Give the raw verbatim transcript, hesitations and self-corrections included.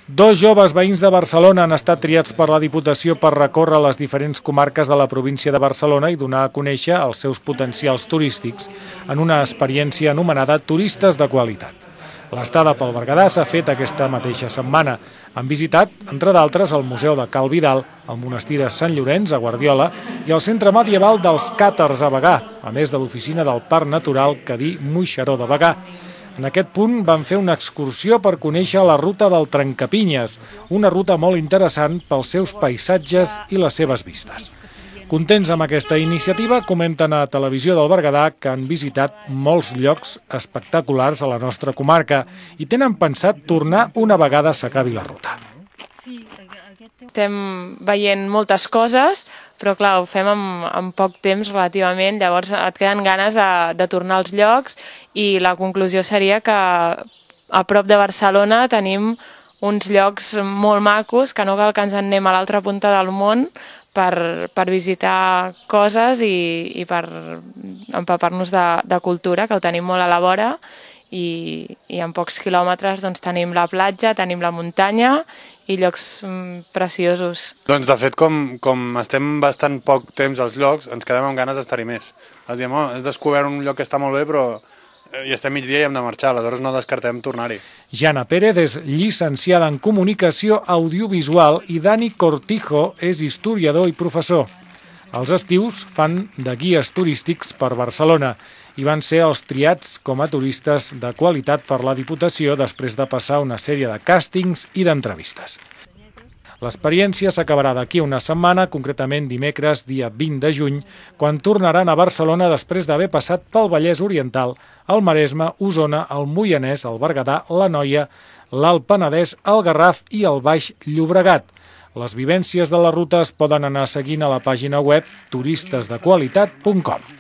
Dos joves veïns de Barcelona han estat triats per la Diputació per recórrer les diferents comarques de la província de Barcelona i donar a conèixer els seus potencials turístics en una experiència anomenada Turistes de Qualitat. L'estada pel Berguedà s'ha fet aquesta mateixa setmana. Han visitat, entre d'altres, el Museu de Cal Vidal, el Monestir de Sant Llorenç, a Guardiola, i el Centre Medieval dels Càtars a Bagà, a més de l'oficina del Parc Natural Cadí-Moixeró de Bagà. En aquest punt van fer una excursió per conèixer la ruta del Trencapinyes, una ruta molt interessant pels seus paisatges i les seves vistes. Contents amb aquesta iniciativa, comenten a Televisió del Berguedà que han visitat molts llocs espectaculars a la nostra comarca i tenen pensat tornar una vegada s'acabi la ruta. Estem veient moltes coses, però clar, ho fem en, en poc temps relativament, llavors et queden ganes de, de tornar als llocs i la conclusió seria que a prop de Barcelona tenim uns llocs molt macos, que no cal que ens en anem a l'altra punta del món per, per visitar coses i, i per empapar-nos de, de cultura, que ho tenim molt a la vora. I, i en pocs quilòmetres doncs, tenim la platja, tenim la muntanya i llocs mm, preciosos. Doncs de fet, com, com estem bastant poc temps als llocs, ens quedem amb ganes d'estar-hi més. Els diem, oh, has descobert un lloc que està molt bé, però hi estem migdia i hem de marxar, aleshores no descartem tornar-hi. Jana Pérez és llicenciada en Comunicació Audiovisual i Dani Cortijo és historiador i professor. Els estius fan de guies turístics per Barcelona i van ser els triats com a turistes de qualitat per la Diputació després de passar una sèrie de càstings i d'entrevistes. L'experiència s'acabarà d'aquí una setmana, concretament dimecres, dia vint de juny, quan tornaran a Barcelona després d'haver passat pel Vallès Oriental, el Maresme, Osona, el Moianès, el Berguedà, l'Anoia, l'Alt Penedès, el Garraf i el Baix Llobregat. Les vivències de la ruta es poden anar seguint a la pàgina web turistes de qualitat punt com.